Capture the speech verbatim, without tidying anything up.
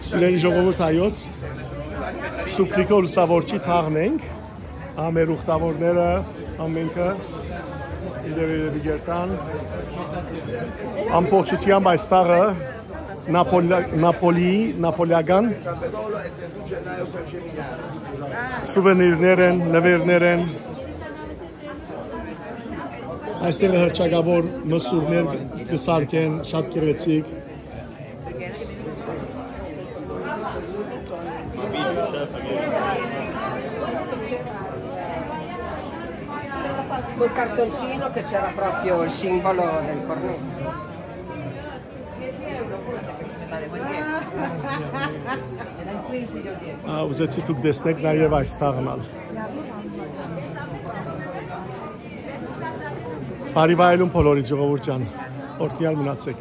Սիրելի ժողովուրդ հայոց, Սուբրիկո լուսավորչի թաղն ենք։ Ա, մեր ուխտավորները ամենքը իրեւի կերտան։ Ամբողջությամբ այս թաղը Նապոլի-, Նապոլիի, նապոլիական սուվենիրներ են, նուիրներ են։ Այստեղ հռչակաւոր մսուրներ կը սարքեն, շատ գեղեցիկ։ Col cartoncino che c'era proprio il simbolo del cornetto. Ա, ուզեցի դուք տեսնեք նաև այս թաղն ալ։ Բարի վայելուն բոլորի, ժողովուրդ ջան, օրհնյալ մնացեք։